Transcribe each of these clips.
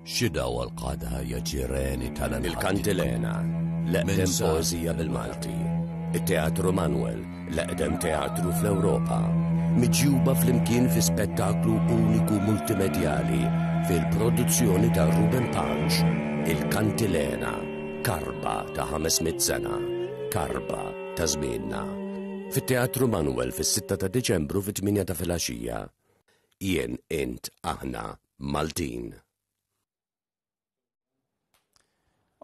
Xi dawa l-qagħda ja ġireni tal-anħati. Il-Kantilena, l-eqdem poeżija bil-Malti. It-Teatru Manuel, l-eqdem teatru fl-Ewropa. Miġjuba flimkien fi spettaklu uniku multimedjali fil-produzzjoni ta' Ruben Pace, Il-Kantilena, karba ta' 500 sena, karba ta' żmienna. Fit-Teatru Manuel fis-6 ta' Diċembru fit-8 ta' filgħaxija. Jien, int, aħna, Maltin.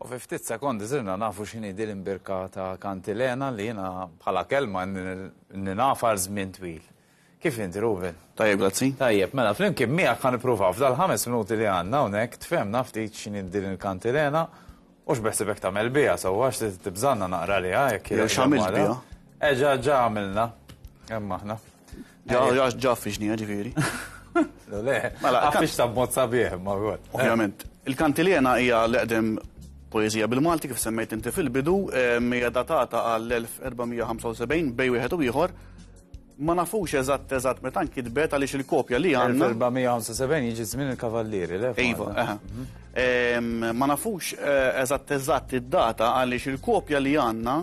U fi ftit sekondi sirna nafu x'inhi din l-imbirka ta' kantilena li jiena bħala kelma ninafa għal żmien twil. Kif inti, Ruben? Tajjeb, grazzi. Tajjeb, mela flimkien miegħek ħa nippruvaw f'dal-ħames minuti li għandna hawnhekk tfehmna ftit x'inhi din il-kantilena u x'beħsibek tagħmel biha sewwa għax tibżanna naqra għaliha jekk Jew x'għamilt biha. Eh ġa ġa għamilna. Hemm aħna. Ġa ġa ġa fixnija ġifieri. Le, mela għaffix ta' b'mod sabiħ ma wkoll. Ovvjament. Il-kantilena hija l-eqdem poeżija bil-Malti kif semmejt inti fil-bidu, hija datata għall-1475 bej wieħed u ieħor. Ma nafux eżatt eżatt meta nkitbet għaliex il-kopja li għandna. 1475 jiġi żmien il-Kavallieri, le? Iva, eħe. Ma nafux eh, eżatt eżatt id-data għaliex il-kopja li għandna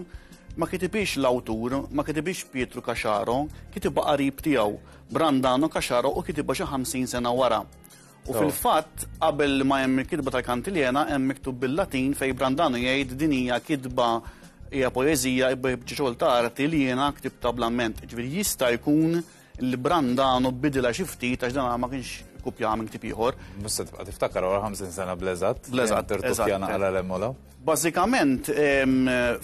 Ma kitibhiex l-awtur, ma kitibhiex Pietru Caxaro, kitibha qarib tiegħu, Brandano Caxaro u kitibha xi 50 sena wara. U fil-fatt, qabel ma hemm il-kitba tal-Kantiljena hemm miktub bil-Latin fejn Brandano jgħid din hija kitba hija poeżija biċċa xogħol ta' arti li jiena ktibtha bl-amment. Ġifieri jista' jkun li Brandano bidilha xi ftit għax dan ma kienx kopjaha minn ktieb ieħor. Mhux se tibqa' tiftakar wara 50 sena bl-eżatt. Bl-eżatt. Tirtukkja naqra 'l hemm u 'l hawn. Bażikament,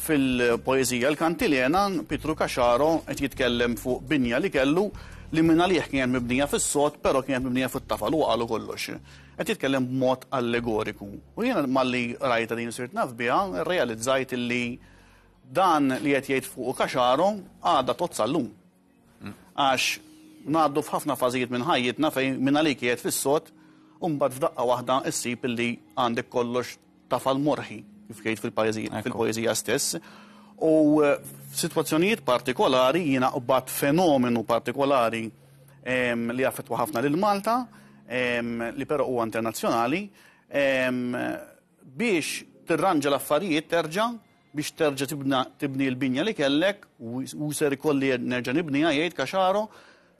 fil-poeżija l-Kantilena, Pietru Caxaro qed jitkellem fuq binja li kellu li mingħalih kienet mibnija fis-sod però kienet mibnija fit-tafal, huwa qalu kollox. Qed jitkellem b'mod allegoriku. U jiena malli qrajtha din u sirt naf biha, rrealizzajt illi dan li qed jgħid fuqu Caxaro għadha tgħodd sal-lum. Għax ngħaddu f'ħafna fażijiet minn ħajjitna fejn mingħalik qiegħed fis-sod u mbagħad f'daqqa waħda ssib illi għandek kollox tafal morħi, kif jgħid fil-poeżija stess. U eh, f'sitwazzjonijiet partikolari jiena qbad fenomenu partikolari li affettwa ħafna lil Malta, li però huwa internazzjonali, biex tirranġa l-affarijiet terġa' biex terġa' tibni l-binja li kellek u ser ikolli nerġa' nibniha jgħid Caxaro,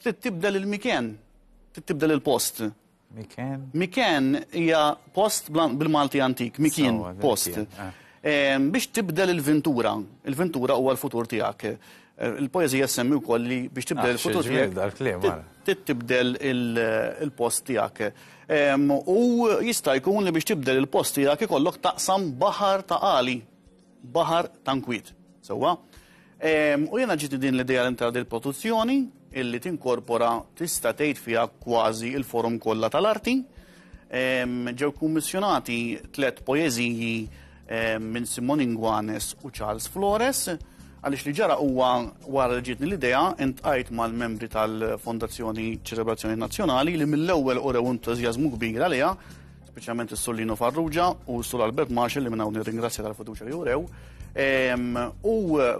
trid tibdel il-miken, trid tibdel il-post. Miken? Miken hija post bil-Malti antik, mikien, post. Eh. Biex tibdel il-ventura, il-ventura huwa l-futur tiegħek. Eh, il-poeżija semmi wkoll li biex tibdel ah, il-futur tiegħek. Tibdel il-post tiegħek. U jista' jkun li biex tibdel il-post tiegħek ikollok taqsam baħar ta' għali, baħar ta' nkwiet. Sewwa? U jiena ġietni din l-idea li ntra dil-produzzjoni illi tinkorpora tista' tgħid fiha kważi il-forum kollha tal-arti. Ġew kummissjonati tlet poeżiji minn Simon Inguanes u Charles Flores għaliex li ġara huwa wara li ġietni l-idea intqajt mal-membri tal-Fondazzjoni Ċelebrazzjoni Nazzjonali li mill-ewwel urew entużjażmu kbir għaliha, speċjalment is-Sur Lino Farrugia u s-Sur Albert Marshall li minn hawn nirringrazzja tal-fiduċja li urew, u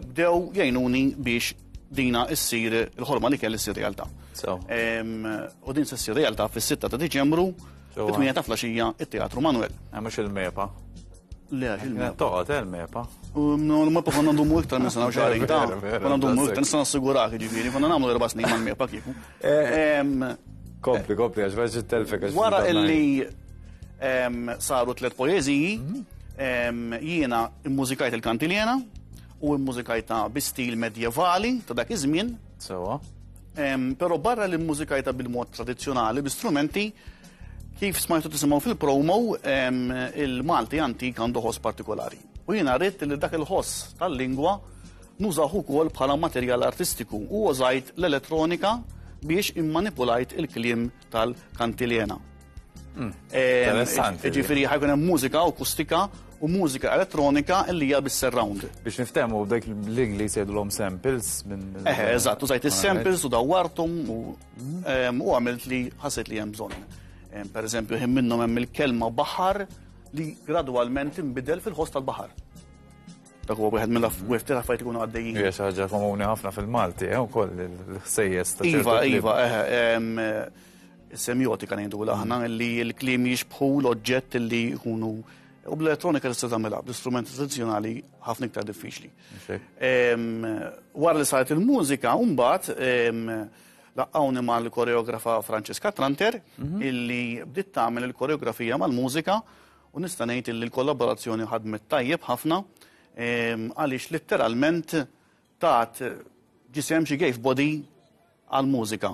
bdew jgħinuni biex dina issir il-ħolma li kelli ssir realtà. U din se ssir realtà fis-6 ta' Diċembru, fit-8 ta' flaxija, it-Teatru Manuel. Eh, mhux il-MEPA. Le, il-MEPA. Toqgħod eh, il-MEPA. No, l-MEPA konna ndumu iktar minn sena u xahrejn ta' konna ndumu iktar nista' nassigurak ġifieri, konna nagħmlu erba' snin mal-MEPA kieku. Eh, kompli, kompli, għax veġi telfek. Wara illi saru tliet poeżiji, mhm. jiena immużikajt il-kantiljena, u mmużikajtha bi stil medjevali ta' dak iż-żmien. Sewwa. Però barra li mmużikajtha bil-mod tradizzjonali, bi strumenti, kif smajtu tisimgħu fil-promo, il-Malti antik għandu ħoss partikolari. U jiena rrid li dak il-ħoss tal-lingwa nużah ukoll bħala materjal artistiku u użajt l-elettronika biex immanipulajt il-kliem tal-kantilena. Hmm, interessanti. Ġifieri ħajkun hemm mużika akustika u mużika elettronika li hija bis-surround. Biex niftehmu dak l-Ingliż jgħidulhom samples minn. Eh, eżatt, użajt is-samples u dawwarthom u għamilt li ħassejt li hemm bżonn. Per eżempju, ħin minnhom hemm il-kelma baħar li gradwalment inbidel fil-ħoss tal-baħar. Dak huwa wieħed mill-affarijiet affarijiet ikunu għaddejjin. Hija xi ħaġa komuni ħafna fil-Malti, eh, ukoll il-ħsejjes ta' Iva, iva, eh, Semiotika ngħidu aħna li l-kliem jixbħu l-oġġett li jkunu u bl-elettronika tista' tagħmilha, bl-istrumenti tradizzjonali ħafna iktar diffiċli. Wara li saret il-mużika, mbagħad laqqawni mal-koreografa Francesca Tranter mhm. illi bdiet tagħmel il-koreografija mal-mużika u nista' ngħid illi l-kollaborazzjoni ħadmet tajjeb ħafna għaliex litteralment tat ġisem xi gave body għall-mużika.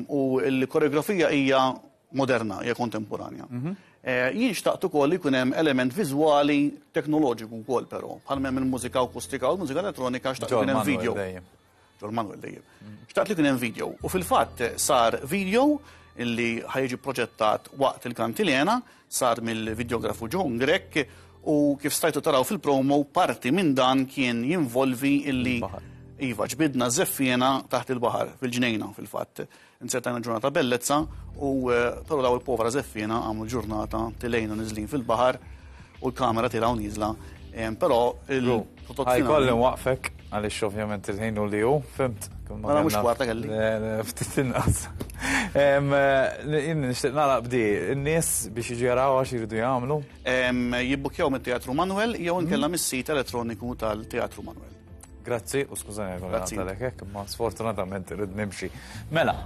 U l-koreografija hija moderna, hija kontemporanja. Mhm. Eh, jien xtaqt ukoll li jkun hemm element viżwali teknoloġiku wkoll però, bħal hemm il-mużika akustika u l-mużika elettronika xtaqt ikun hemm video. Ġol Manuel dejjem. Xtaqt li kien hemm video u fil-fatt sar video illi ħajġi proġettat waqt il-kantilena sar mill-videografu John Grech u kif stajtu taraw fil-promo parti minn dan kien jinvolvi illi Iva, ġbidna żeffiena taħt il-baħar, fil-ġnejna fil-fatt. Insertajna ġurnata bellezza u eh, però daw il-povra żeffiena għamlu ġurnata tilejna niżlin fil-baħar u l-kamera tilgħu nieżla. Però il-prodott Ħajkolli waqfek għaliex ovvjament il-ħin u li hu, fimt. Mela mhux kwarta kelli. Ftit inqas. Jien nixtieq nagħlaq bdi, in-nies biex jiġu jaraw għax jridu jagħmlu. Jibbukjaw mit-Teatru Manuel jew inkella mhm. mis-sit elettroniku tal-Teatru Manuel. Grazzi u skużani għal hekk, imma sfortunatament irrid nimxi. Mela,